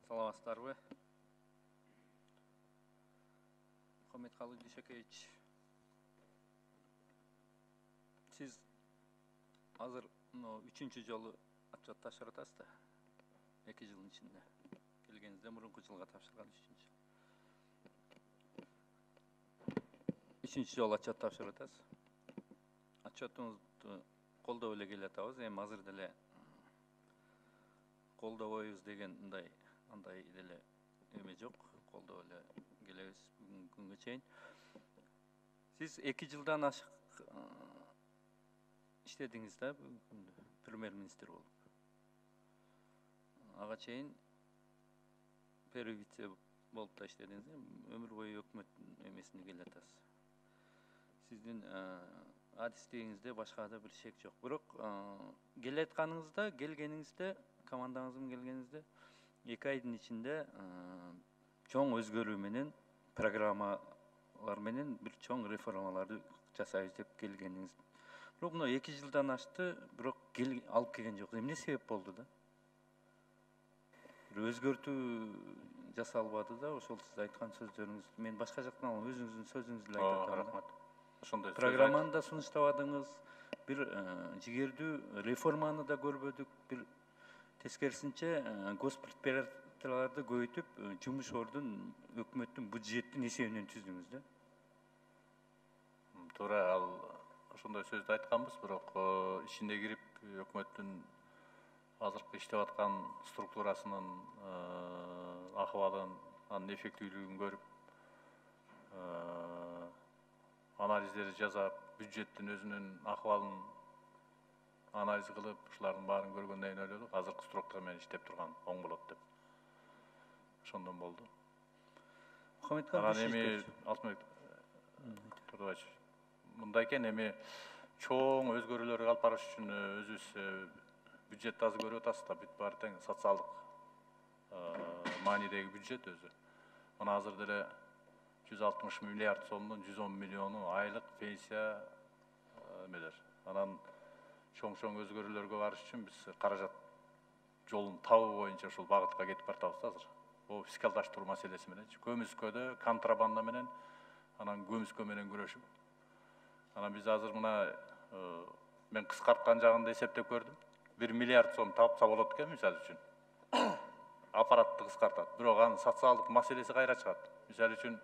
Саламатсыздарбы? Мухаммедкалый Дүйшөкевич, сиз азыр 3-чү жолу отчет тапшырып атасыз да. 2 жылдын ичинде. Келгениңизде мурунку жылга тапшырган 3-чү жолу отчет тапшырып атасыз. Отчетуңузду колдоп эле келатабыз. Эми азыр деле колдобойбуз деген андай деле эме жок. Колдоп эле келебиз бүгүнкү күнгө чейин. Сиз 2 жылдан ашык иштедиңиз да, премьер-министр болуп. Ага чейин первый-вице болуп да иштедиңиз, өмүр бою өкмөт эмесине келатасыз. Сиздин адистигиңизде башка да бир шек жок. Бирок келгениңизде, командаңыздын келгениңизде 2 айдын ичинде чоң өзгөрүү менен, программалар менен бир чоң реформаларды жасайбыз деп келгениңиз. Бирок мына 2 жылдан ашты, бирок алып келген жок. Эмне себеп болду да? Бир өзгөртүү жасалбады да, ошол сиз айткан сөздөрүңүз. Мен башка жактан алам, өзүңүздүн сөзүңүздү эле айтып атам. Рахмат. Ошондой Программаны да сунуштабадыңыз, бир жигердүү реформаны да көрбөдүк, бир тескерисинче госпредприятияларды көбөйтүп, жумуш ордун өкмөттүн бюджеттин эсебинен түздүңүз да. Туура, ал ошондой сөздү айтканбыз, бирок ичине кирип өкмөттүн азыркы иштеп аткан структурасынын ахыбалын, анын эффективдүүлүгүн көрүп, анализдерди жасап, бюджеттин өзүнүн ахыбалын анализ кылып, ушулардын баарын көргөндөн кийин ойлодук, азыркы структура менен иштеп турган оң болот деп. Ошондон болду. Анан эми Алтынбек Турдубаевич, мындай экен, эми чоң өзгөрүүлөргө алып барыш үчүн өзүбүз бюджетти азыр көрүп атасыз да, бүт баары тең социалдык маанидеги бюджет өзү. Мына азыр деле 160 миллиард сомдун 110 миллиону айлык пенсия эмелер. Анан чоң өзгөрүүлөргө барыш үчүн биз каражат жолун табуу боюнча ушул багытка кетип баратабыз да азыр. Бул фискалдаштыруу маселеси менен, көмүскөдө контрабанда менен, анан көмүскө менен күрөшүп. Анан биз азыр мына мен кыскарткан жагын да эсептеп көрдүм. 1 миллиард сом тапса болот экен мисалы үчүн. Аппаратты кыскартат. Бирок анын социалдык маселеси кайра чыгат. Мисалы үчүн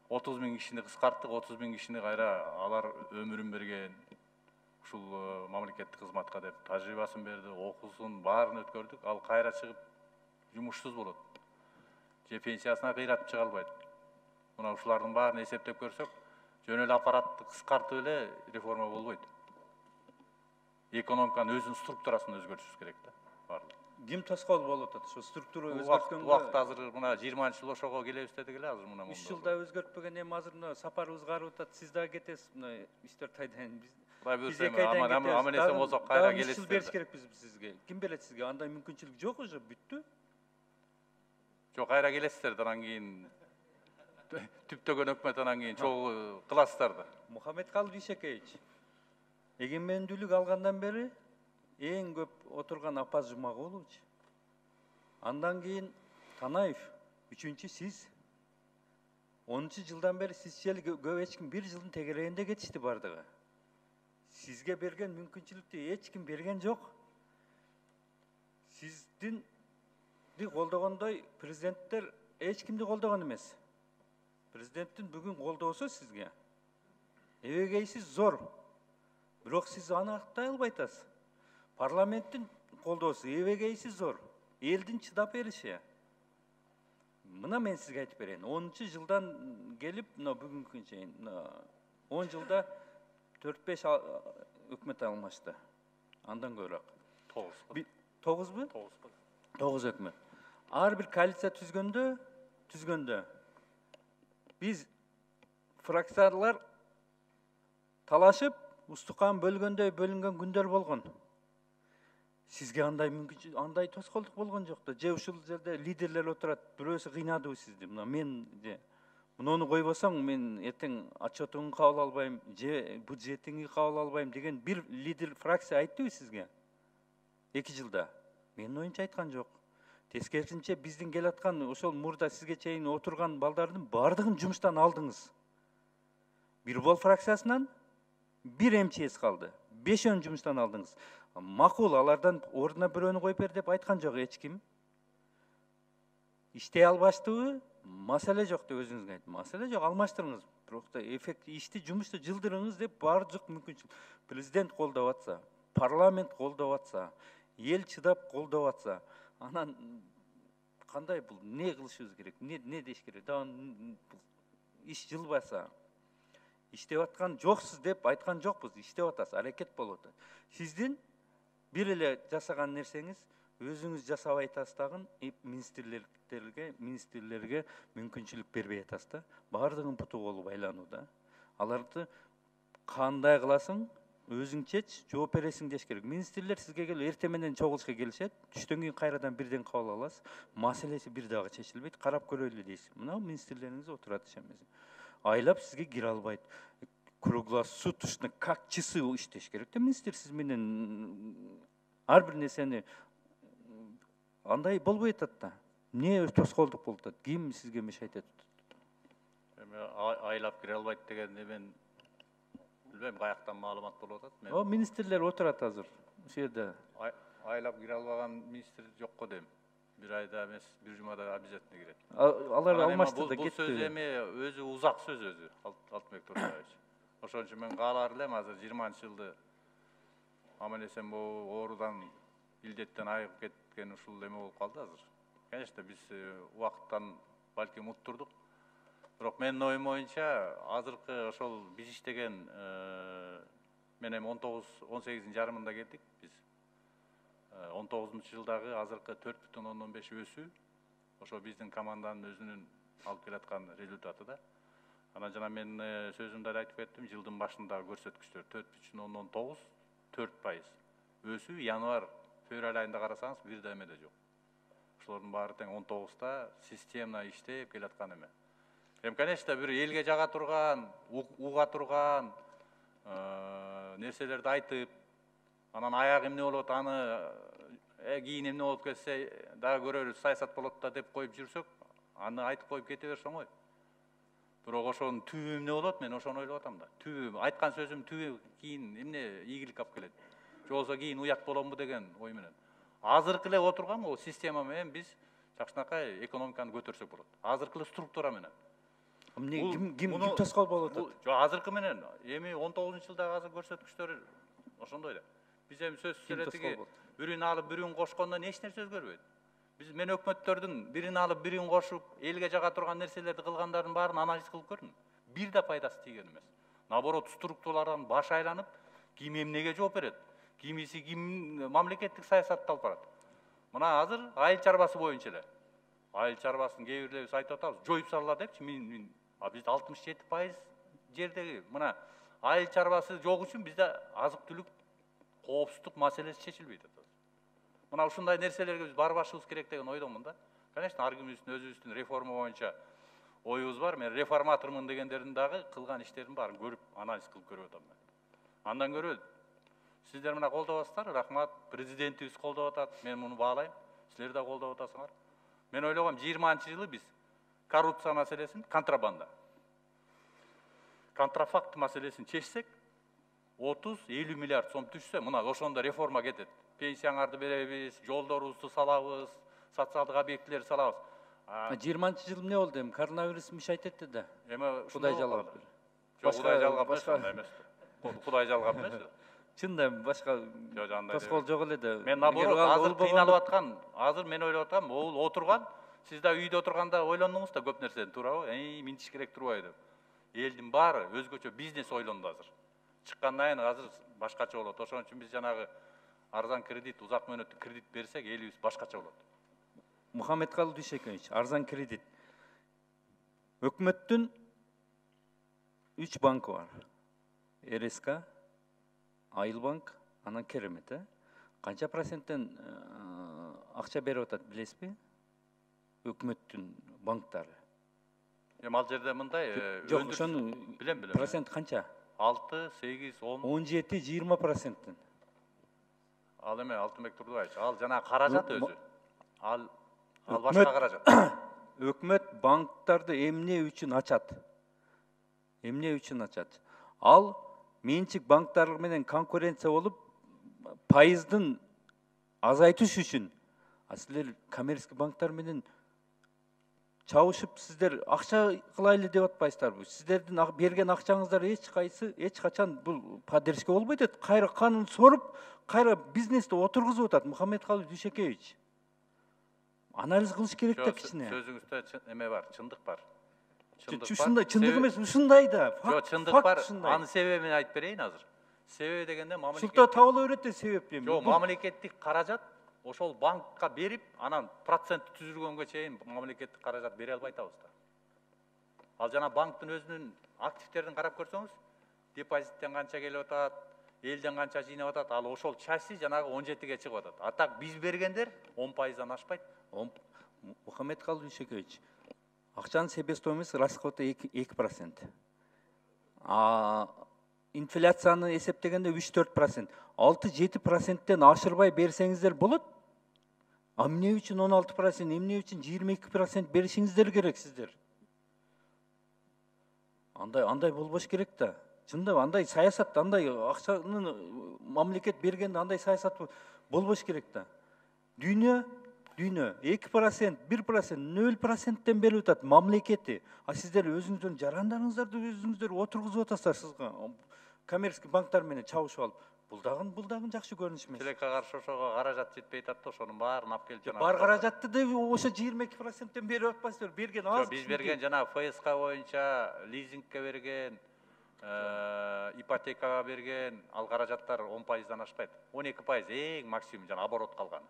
30 000 кишини кыскарттык, 30 000 кишини кайра алар өмүрүн берген, ушул мамлекеттик кызматка деп тажрыйбасын берди, окуусун баарын өткөрдүк. Ал кайра чыгып жумушсуз болот. Же пенсиясына кыйратып чыга албайт. Мына ушулардын баарын эсептеп көрсөк, жөн эле аппаратты кыскартып эле реформа болбойт. Экономиканын өзүнүн структурасын өзгөртүшүбүз керек да. Баардык. Ким тоскоол болуп атат? Ошо структура өзгөрткөнгө. Убакыт азыр мына 20-жыл ошого келебиз дедик эле азыр мына. 3 жылда өзгөртпөгөн, эми азыр мына сапарыбыз карып атат. Сиз дагы кетесиз мына 3-4 айдан. Биз 2 айдан кетебиз. Аман-эсен болсок кайра келесиз. 3 жыл бериш керекпиз сизге. Ким берет сизге? Андай мүмкүнчүлүк жок уже, бүттү. Жок, кайра келесиздер, анан кийин түптөгөн өкмөт анан кийин чогуу кыласыздар да. Мухаммедкалый Дүйшөкевич, эгемендүүлүк алгандан бери эң көп отурган Апаз Жумагулович, андан кийин Танаев, 3-чү сиз. 10 жылдан бери сизче көп эч ким 1 жылдын тегерегинде кетишти бардыгы. Сизге берген мүмкүнчүлүктү эч ким берген жок. Сиздин колдогондой президенттер эч кимди колдогон эмес. Президенттин бүгүн колдоосу сизге эбегейсиз зор. Бирок сиз аны актай албай атасыз. Парламенттин колдоосу эбегейсиз зор. Элдин чыдап бериши. Мына мен сизге айтып берейин. 10 жылдан келип, мына бүгүнкү чейин 10 жылда 4-5 өкмөт алмашты. Андан көбүрөөк. 9 бу? 9 өкмөт. Ар бир коалиция түзгөндө биз фракциялар талашып, устукан бөлгөндөй бөлүнгөн күндөр болгон. Сизге андай тоскоолдук болгон жок да. Же ушул жерде лидерлер отурат, бирөөсү кыйнадыбы сизди? Мына мен муну койбосоң мен эртең отчетуңду кабыл албайм, же бюджетиңди кабыл албайм деген бир лидер фракция айттыбы сизге? 2 жылда. Менин оюмча айткан жок. Тескерисинче биздин келаткан ошол мурда сизге чейин отурган балдардын баардыгын жумуштан алдыңыз. Бир бол фракциясынан бир МЧС калды. 5 жумуштан алдыңыз. Макул, алардан ордуна бирөөнү коюп бер деп айткан жок эч ким. Иштей албаштыбы? Маселе жок деп өзүңүз айттыңыз. Маселе жок, алмаштырыңыз. Бирок да эффект ишти, жумушту жылдырыңыз деп баардык мүмкүнчүлүк. Президент колдоп атса, парламент колдоп атса, эл чыдап колдоп атса, анан кандай бул не кылышыбыз керек? Не деш керек? Иш жылбаса, иштеп аткан жоксуз деп айткан жокпуз. Иштеп атасыз, аракет болуп атат. Сиздин бир эле жасаган нерсеңиз өзүңүз жасабай атасыз дагы министрлерге мүмкүнчүлүк бербей атасыз да. Баардыгын путу колу байланууда. Аларды кандай кыласың, өзүң чеч, жооп бересиң деш керек. Министрлер сизге келип эртең менен чогулушка келишет, түштөн кийин кайрадан бирден кабыл аласыз. Маселеси бир дагы чечилбейт, карап көрөлү дейсиз. Мына министрлериңиз отурат ишемесин. Айлап сизге кире албайт. Круглосуточно как часы иштеш керек да министр сиз менен ар бир нерсени андай болбой атат да. Эмне тоскоолдук болуп атат? Ким сизге мешайт атат? Эми айлап кире албайт деген мен билбейм, каяктан маалымат болуп атат. О, министрлер отурат азыр. Ошол жерде. Айлап кире албаган министр жок го дейм. Бир айда эмес, бир жумада обязательно кирет. Алар алмаштырды, кетти. Бул сөз эми өзү узак сөз өзү, Алтынбек Турсунович. Ошон үчүн мен каалар элем азыр 20-жылды аман эсен оорудан, илдеттен айыгып кеткен ушул эме болуп калды азыр. Конечно, биз убакыттан балким уттурдук. Бирок менин оюм боюнча азыркы ошол биз иштеген мен эми 18-ин жарымында келдик биз. 19-жылдагы азыркы 4,5 өсүү ошо биздин команданын өзүнүн алып келаткан результаты да. Анан жана мен сөзүмдө айтып кеттим, жылдын башындагы көрсөткүчтөр 4,9, 4%. Өсүү январь, февраль айында карасаңыз бир да эме да жок. Ошолордун баары тең 19-та система иштеп келаткан эме. Эми, конечно, бир элге жага турган, уга турган нерселерди айтып, анан аягы эмне болот, аны кийин эмне болуп кетсе дагы көрөрүз, саясат болот да деп коюп жүрсөк, аны айтып коюп кете берсең ой. Бирок ошонун түбү эмне болот, мен ошону ойлоп атам да. Түбү, айткан сөзүм түбү кийин эмне ийгилик алып келет. Же болбосо кийин уят боломбу деген ой менен. Азыркы эле отурган бул система менен биз жакшынакай экономиканы көтөрсөк болот. Азыркы эле структура менен. Ким тоскоол болуп атат? Жок, азыркы менен эми 19-жылдагы азыр көрсөткүчтөр ошондой эле. Биз эми сөз сүрөтүгө бирин алып бирин кошкондон эч нерсе өзгөрбөйт. Биз мен өкмөттөрдүн бирин алып бирин кошуп, элге жага турган нерселерди кылгандардын баарын анализ кылып көрдүм. Бир да пайдасы тийген эмес. Наоборот, структуралардан баш айланып, ким эмнеге жооп берет, кимиси ким мамлекеттик саясатты алып барат. Мына азыр айыл чарбасы боюнча эле. Айыл чарбасын кээ бирлерибиз айтып атабыз, жоюп салала депчи. Биз 67% жердеги мына айыл чарбасы жок үчүн бизде азык-түлүк коопсуздук маселеси чечилбейт атат. Мына ушундай нерселерге биз барбашыбыз керек деген ойдомун да. Конечно, ар кимибиздин өзүбүздүн реформа боюнча оюбуз бар. Мен реформатормун дегендердин дагы кылган иштерин баарын көрүп, анализ кылып көрүп атам мен. Андан көрө сиздер мына колдоп атасыздар, рахмат. Президентибиз колдоп атат, мен муну баалайм. Силер да колдоп атасыңар. Мен ойлогом 20-жылы биз коррупция маселесин, контрабанда, контрафакт маселесин чечсек, 30-50 миллиард сом түшсө, мына ошондо реформа кетет. Пенсияңарды беребиз, жолдорубузду салабыз, социалдык объектилерди салабыз. 20-жыл эмне болду эми? Коронавирус мешайт этти да. Эми Кудай жалгап. Жок, Кудай жалгап эмес. Кудай жалгап эмес. Чында башка тоскоол жок эле да. Мен наоборот, азыр кыйналып аткан, азыр мен ойлоп атам, бул отурган, сиз да үйдө отурганда ойлондуңуз да көп нерсени, туурабы? Минтиш керек турбайбы деп. Элдин баары өзгөчө бизнес ойлонду азыр. Чыккандан кийин азыр башкача болот. Ошон үчүн биз жанагы арзан кредит, узак мөөнөттүк кредит берсек, элибиз башкача болот. Мухаммедкалый Дүйшөкенович, арзан кредит. Өкмөттүн 3 банкы бар. РСК, Айылбанк, анан Керемет. Канча проценттен акча берип атат билесизби? Өкмөттүн банктары. Эми ал жерде мындай, жок, ошону билем. Процент канча? 6, 8, 10. 17-20%. Ал эме Алтынбек Турдубаевич, ал жана каражат өзү. Ал Ал башка каражат. Өкмөт банктарды эмне үчүн ачат? Эмне үчүн ачат? Ал менчик банктар менен конкуренция болуп, пайыздын азайтыш үчүн. Силер коммерческий банктар менен чабышып, сиздер акча кылайлы деп атпайсыздарбы? Сиздердин берген акчаңыздар эч качан бул поддержка болбойт эт. Кайра канун соруп, кайра бизнести отургузуп атат Мухаммедкалый Дүйшөкеевич. Анализ кылыш керек да кичине. Сөзүңүздө эме бар, чындык бар. Ушундай чындык эмес, ушундай да. Жок, чындык бар. Анын себебин айтып берейин азыр. Себеби дегенде Шулта табыла берет да себеп эми. Жок, мамлекеттик каражат ошол банкка берип, анан процент түзүлгөнгө чейин мамлекеттик каражат бере албай атабыз да. Ал жана банктын өзүнүн активдерин карап көрсөңүз, депозиттен канча келип атат, элден канча жыйнап атат, ал ошол части жанагы 17ге чыгып атат. А так биз бергендер 10%дан ашпайт. Мухаммедкалый Дүйшөкеевич, акчанын себестоимость расходу 2%. Инфляцияны эсептегенде 3-4%. 6-7%тен ашырбай берсеңиздер болот. Эмне үчүн 16%, эмне үчүн 22% беришиңиздер керек сиздер? Андай болбош керек да. Чындап андай саясат, андай акчаны мамлекет бергенде андай саясат болбош керек да. Дүйнө 2%, 1%, 0%тен берип атат мамлекети. Сиздер өзүңүздөрдүн жарандарыңыздарды өзүңүздөр отургузуп атасыздар сизге. Коммерческий банктар менен чабышып алып. Бул дагы жакшы көрүнүш эмес. Тилекке каршы ошого каражат жетпей атат да, ошонун баарын алып келип жанагы. Бар каражатты да ошо 22%тен берип атпайсыздар. Берген аз. Биз берген жанагы ФСК боюнча лизингке берген, ипотекага берген ал каражаттар 10%дан ашпайт. 12% эң максимум жана оборот калган.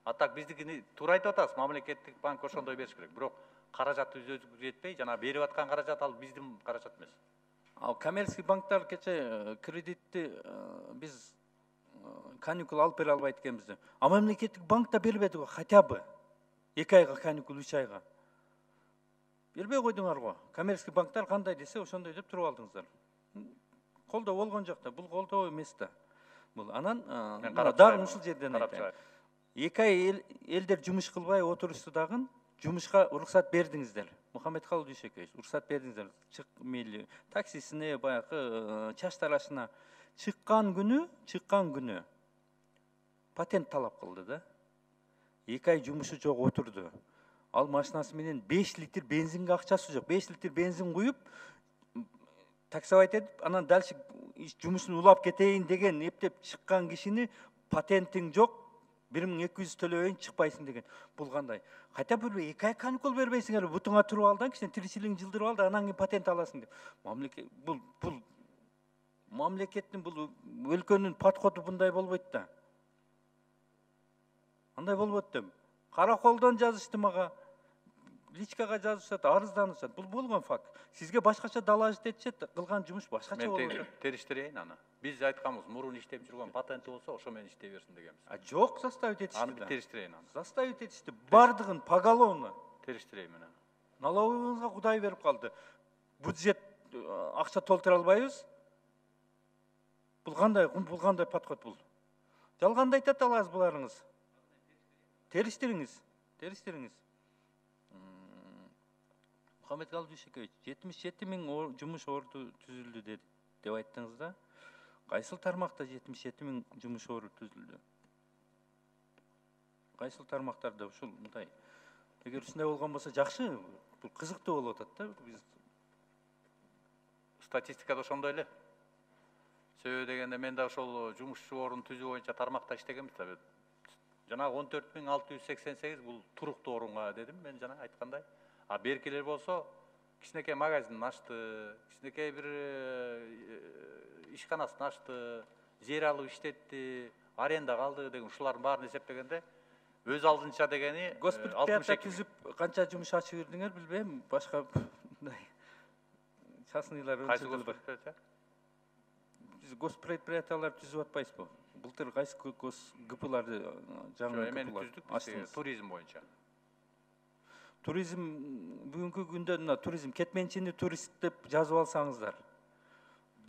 А так биздикини туура айтып атасыз, мамлекеттик банк ошондой бериш керек. Бирок каражат өзүбүзгө жетпей, жана берип аткан каражат ал биздин каражат эмес. Ал коммерческий банктар кече кредитти биз каникул алып бере албайт экенбиз. Мамлекеттик банк да бербеди го, хотя бы 2 айга каникул, 3 айга. Бербей койдуңарбы? Коммерческий банктар кандай десе, ошондой деп туруп алдыңыздар. Колдоо болгон жок да, бул колдоо эмес да. Бул анан дагы ушул жерден айтайын. 2 ай элдер жумуш кылбай отурушты дагы жумушка уруксат бердиңиздер. Мухаммедкалый Дүйшөкеевич, уруксат бердиңиздер. Чык мейли таксисине, баягы чач тарашына чыккан күнү патент талап кылды да. 2 ай жумушу жок отурду. Ал машинасы менен 5 литр бензинге акчасы жок. 5 литр бензин куюп, таксовать этип, анан дальше жумушун улап кетейин деген эптеп чыккан кишини патентиң жок, 1200 төлөбөйүн чыкпайсың деген. Бул кандай? Хотя бы 2 ай каникул бербейсиңер, бутуңа туруп ал да, кичине тиричилигиңди жылдырып ал да, анан кийин патент аласың деп. Бул мамлекеттин, бул өлкөнүн подходу мындай болбойт да. Андай болбойт да. Караколдон жазышты мага, личкага жазышат, арызданышат. Бул болгон факт. Сизге башкача доложить этишет, кылган жумуш башкача болот. Мен териштирейин аны. Биз айтканбыз, мурун иштеп жүргөн патенти болсо, ошо менен иштей берсин дегенбиз. Жок, заставить этишти. Аны териштирейин аны. Заставить этишти. Бардыгын поголовно. Териштирейин мен аны. Налоговыйга Кудай берип калды. Бюджет акча толтура албайбыз. Бул кандай подход бул? Жалганды айтат аласыз буларыңыз. Териштириңиз. Мухаммедкалый Дүйшөкеевич, 77 000 жумуш орду түзүлдү деп айттыңыз да. Кайсыл тармакта 77 000 жумуш орду түзүлдү? Кайсыл тармактарда ушул мындай? Эгер ушундай болгон болсо жакшы, бул кызыктуу болуп атат да. Биз статистикада ошондой эле. Себеби дегенде мен да ошол жумушчу орун түзүү боюнча тармакта иштегенбиз да. Жанагы 14688 бул туруктуу орунга дедим мен жана айткандай. А беркилер болсо кичинекей магазин ачты, кичинекей бир ишканасын ачты, жер алып иштетти, арендага алды деген ушулардын баарын эсептегенде өз алдынча дегени госпредприятие түзүп канча жумуш ачып жүрдүңөр билбейм, башка мындай частныйлар кайсы госпредприятие? Биз госпредприятиялар түзүп атпайбызбы? Былтыр кайсы ГПларды жаңы түздүк, туризм боюнча. Туризм бүгүнкү күндө мына туризм кетменчини турист деп жазып алсаңыздар.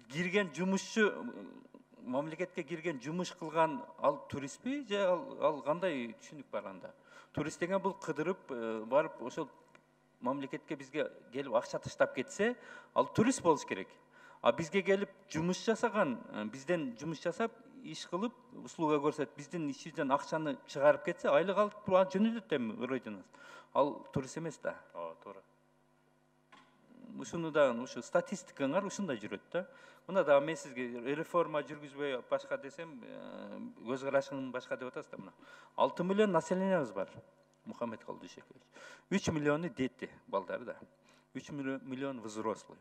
Кирген жумушчу мамлекетке кирген, жумуш кылган ал туристпи же ал кандай түшүнүк бар анда? Турист деген бул кыдырып барып ошол мамлекетке бизге келип акча таштап кетсе, ал турист болуш керек. А бизге келип жумуш жасаган, бизден жумуш жасап, иш кылып, услуга көрсөтүп, биздин ишибизден акчаны чыгарып кетсе, айлык алып жөнөтөт эми Родинас. Ал турист эмес да. Ооба, туура. Ушуну да ушу статистикаңар ушундай жүрөт да. Мына дагы мен сизге реформа жүргүзбөй башка десем, көз карашың башка деп атасыз да мына. 6 миллион населениябыз бар. Мухаммедкалый Дүйшөкевич. 3 миллиону дети, балдары да. 3 миллион взрослый.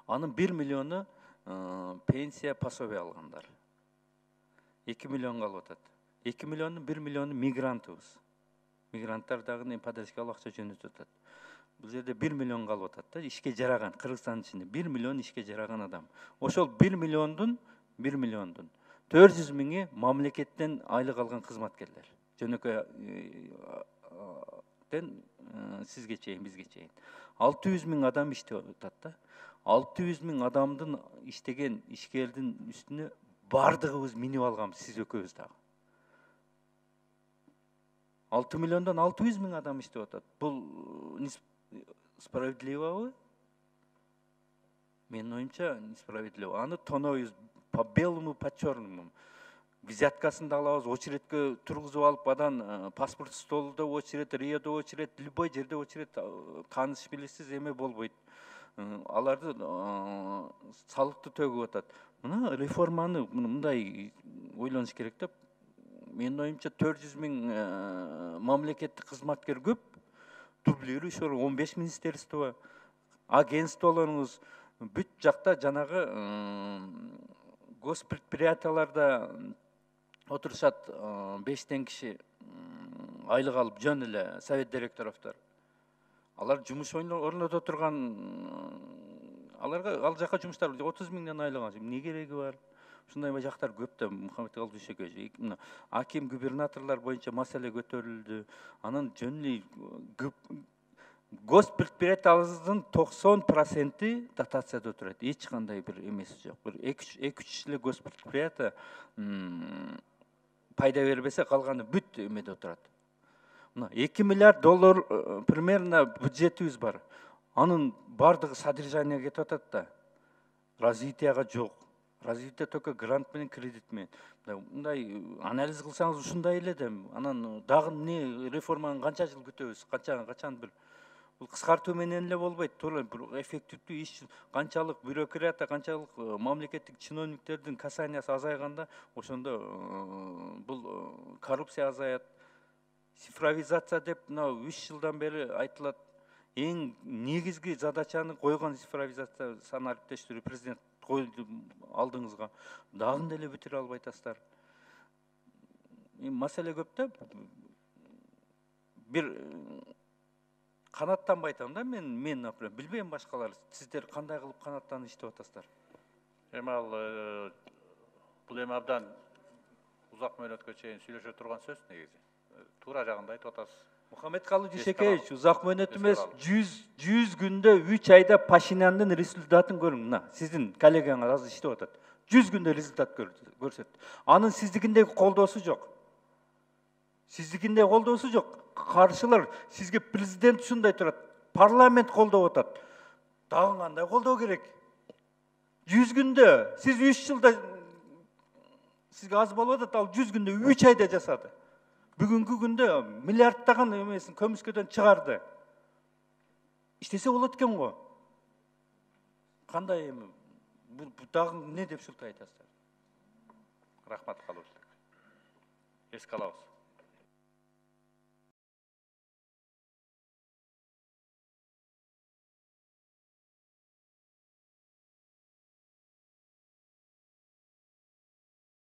Анын 1 миллиону пенсия, пособие алгандар. 2 миллион калып атат. 2 миллионун 1 миллиону мигрантыбыз. Мигранттар дагы поддержкалык акча жөнөтүп атат. Бул жерде 1 миллион калып атат да, ишке жараган, Кыргызстандын ичинде 1 миллион ишке жараган адам. Ошол 1 миллиондун 400 миңи мамлекеттен айлык алган кызматкерлер. Жөнөкөйден сизге чейин, бизге чейин. 600 миң адам иштеп атат да. 600 миң адамдын иштеген ишкердин үстүнө бардыгыбыз минип алганбыз, сиз экөөбүз дагы. 6 миллиондон 600 миң адам иштеп атат. Бул справедливобу? Менин оюмча несправедливо. Аны тонойбуз по белому, по черному. Взяткасын да алабыз, очередке тургузуп алып, адан паспорт столуда очеред, риодо очеред, любой жерде очеред, тааныш билесиз эме болбойт. Аларды салыкты төгүп атат. Мына реформаны мындай ойлонуш керек деп. Менин оюмча 400 миң мамлекеттик кызматкер көп. Дублирующий 15 министерство, агентстволорубуз бүт жакта жанагы госпредприятияларда отурушат 5 киши айлык алып жөн эле совет директоровдор. Алар жумуш орното турган, аларга ал жака жумуштар 30 миңден айлык алат. Эмне кереги бар? Ушундай жактар көп да, Мухаммедкалый Дүйшөкевич. Аким, губернаторлор боюнча маселе көтөрүлдү. Анын жөн эле госпредприятиябыздын 90% дотацияда турат. Эч кандай бир эмеси жок. Бир 2-3 эле госпредприятие пайда бербесе, калганы бүт эмеде турат. Мына 2 миллиард доллар примерно бюджетибиз бар. Анын бардыгы содержание кетип атат да. Развитияга жок. Развитие только грант менен, кредит менен. Мындай анализ кылсаңыз ушундай эле да. Анан дагы эмне реформаны канча жыл күтөбүз? Качан бир бул кыскартуу менен эле болбойт. Туура бир эффективдүү иш, канчалык бюрократия, канчалык мамлекеттик чиновниктердин касаниясы азайганда, ошондо бул коррупция азаят. Цифровизация деп мына 3 жылдан бери айтылат. Эң негизги задачаны койгон цифровизация санариптештирүү президент койду алдыңызга. Дагы деле бүтүрө албай атасыздар. Маселе көп да. Бир канаттанбай атам да мен например, билбейм башкалар. Сиздер кандай кылып канаттанып иштеп атасыздар? Эми ал бул эми абдан узак мөөнөткө чейин сүйлөшө турган сөз негизи. Туура жагында айтып атасыз. Мухаммедкалый Дүйшөкевич, узак мөөнөт эмес, 100 күндө 3 айда Пашиняндын результатын көрүң. Мына, сиздин коллегаңыз азыр иштеп атат. 100 күндө результат көрсөт. Анын сиздикиндеги колдоосу жок. Сиздикиндеги колдоосу жок. Каршылар, сизге президент ушундай турат, парламент колдоп атат. Дагы кандай колдоо керек? 100 күндө, сиз 3 жылда сизге аз болуп атат, ал 100 күндө 3 айда жасады. Бүгүнкү күндө миллиардтаган эмесин көмүскөдөн чыгарды. Иштесе болот экен го. Кандай эми? Бул дагы эмне деп шылтый айтасыздар? Рахмат калыбыз. Эске алабыз.